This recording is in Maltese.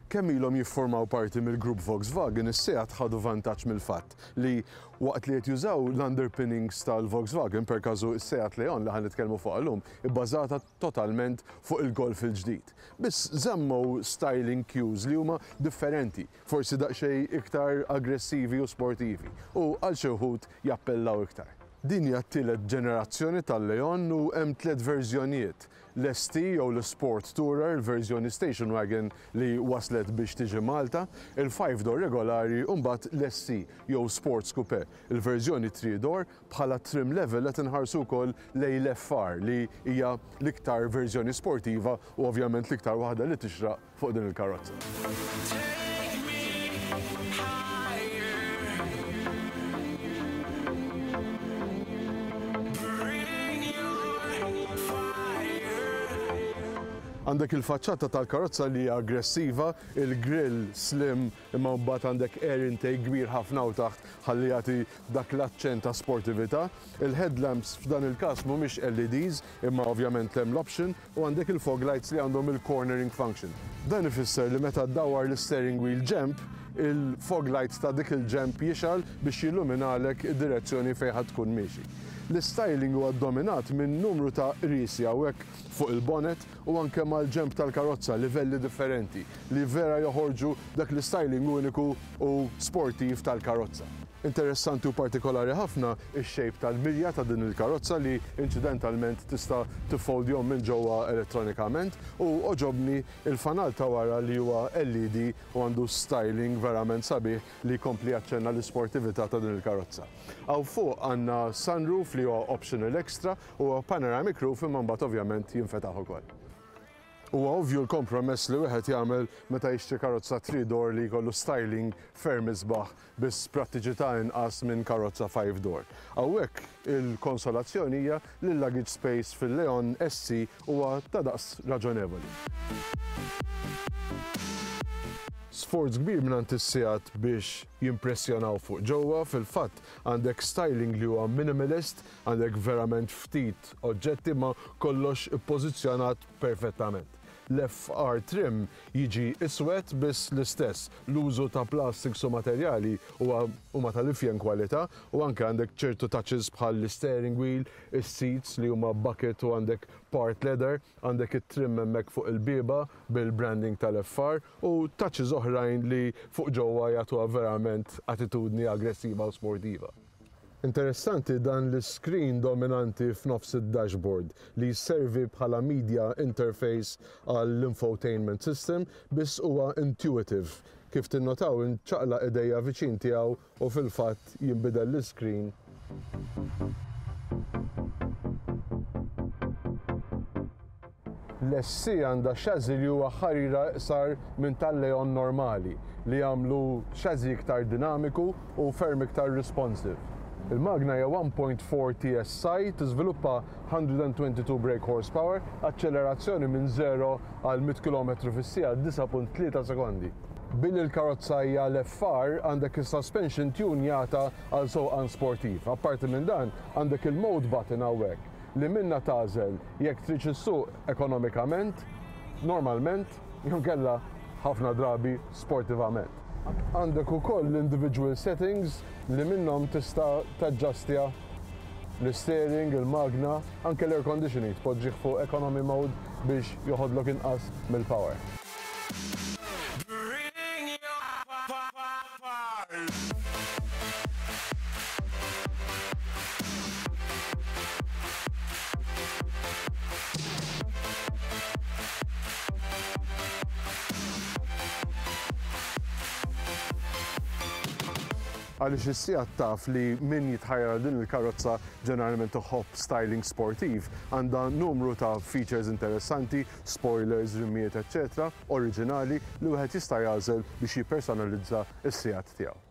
Kemm ilhom jiffurmaw parti mill-grupp Volkswagen, is-Seat ħadu vantaġġ mill-fatt li waqt li qed jużaw l-underpinnings tal-Volkswagen, per każu s-Seat Leon li ħa nitkellmu fuqha llum, ibbażata totalment fuq il-Golf il-ġdid. Biss żammew styling cues li huma differenti, forsi daqsxejn iktar aggressivi u sportivi, u għal xi wħud jappellaw iktar. Din hija t-tielet ġenerazzjoni tal-Leon u hemm tliet verżjonijiet, L-ST jew l-Sport Tourer, il-verżjoni station wagon li waslet biex tiġi Malta, il-five door regolari u mbagħad l-SC jew Sports Coupe, il-verżjoni three door, bħala trim level qed inħarsu wkoll lejn l-FR li hija l-iktar verżjoni sportiva u ovvjament l-iktar waħda li tixraq fuq din il-karozza. Għandek il-faċċata tal-karozza li hija aggressiva, il-grill slim imma mbagħad għandek air intake kbir ħafna hawn taħt ħalli jagħti dak l-aċċent ta' sportività. Il-headlamps f'dan il-każ mhumiex LEDs imma ovvjament hemm l-option U għandek il-fog lights li għandhom il-cornering function. Dan ifisser li meta ddawwar l-isteering wheel ġenb, il-fog light ta' dik il-ġenb jixgħal biex jilluminalek id-direzzjoni fejn ħa tkun miexi. L-istyling huwa ddominat minn numru ta' qriesi hawnhekk fuq il-bonnet u anke mal-ġenb tal-karozza, livelli differenti li vera joħorġu dak l-istyling uniku u sportiv tal-karozza. Interessanti u partikolari ħafna x-shape tal-mirja ta' din il-karozza li inċidentalment tista' tiffoldjhom minn ġewwa elettronikament u għoġobni l-fanal ta' wara li huwa LED u għandu styling verament sabiħ li jkompli jaċċenna l-isportività ta' din il-karozza. Hawn fuq għandna sunroof li huwa optional extra u huwa panoramic roof imma mbagħad ovvjament jinfetaħ ukoll. Huwa ovvju l-kompromess li wieħed jagħmel meta jixtri karozza three door li jkollu styling ferm isbaħ biss prattiċità inqas minn karozza five door. Hawnhekk il-konsolazzjoni hija li l-luggage space fil-Leon SC huwa ta' daqs raġonevoli. Sforz kbir mingħand is-Seat biex jimpressjonaw fuq ġewwa, fil-fatt għandek styling li huwa minimalist, għandek verament ftit oġġetti imma kollox ippożizzjonat perfettament. L-FR trim jiġi iswed biss l-istess, l-użu ta' plastics u materjali huwa huma tal-ifjen kwalità u anke għandek ċertu touches bħal l-isteering wheel, is-seats li huma bucket u għandek part leather, għandek it-trim hemmhekk fuq il-bieba bil-branding tal-FR u touches oħrajn li fuq ġewwa jagħtuha verament attitudni aggressiva u sportiva. Interessanti dan l-iscreen dominanti f'nofs id-dashboard li jservi bħala media interface għall-infotainment system biss huwa intuitive. Kif tinnotaw inċaqlaq idejja viċin tiegħu u fil-fatt jinbidel l-iscreen. L-SC għandha chassis li huwa ħarira iqsar minn tal-Leon normali, li jagħmlu chassis iktar dinamiku u ferm iktar responsive. Il-magna hija 1.4 TSI, tiżviluppa 122 brake horsepower, aċċelerazzjoni minn 0 għal 100 kilometru fis-siegħa 9.3 sekondi. Billi l-karozza hija l-FR, għandek is-suspension tune jata għal sewqan sportiv. Apparti minn dan, għandek il-mode button hawnhekk li minnha tagħżel jekk tridx issuq ekonomikament, normalment, jew inkella ħafna drabi sportivament. Għandek ukoll l-individual settings li minnhom tista' taġġastja l-steering, il-magna, anke l-air conditioning tpoġġih fuq economy mode biex joħodlok inqas mill-power. Bring your fire. Għaliex is-Seat taf li min jitħajjar għal din il-karozza ġeneralment iħobb styling sportiv, għandha numru ta' features interessanti, spoilers, rimmijiet eċċetera, oriġinali li wieħed jista' jagħżel biex jippersonalizza s-Seat tiegħu.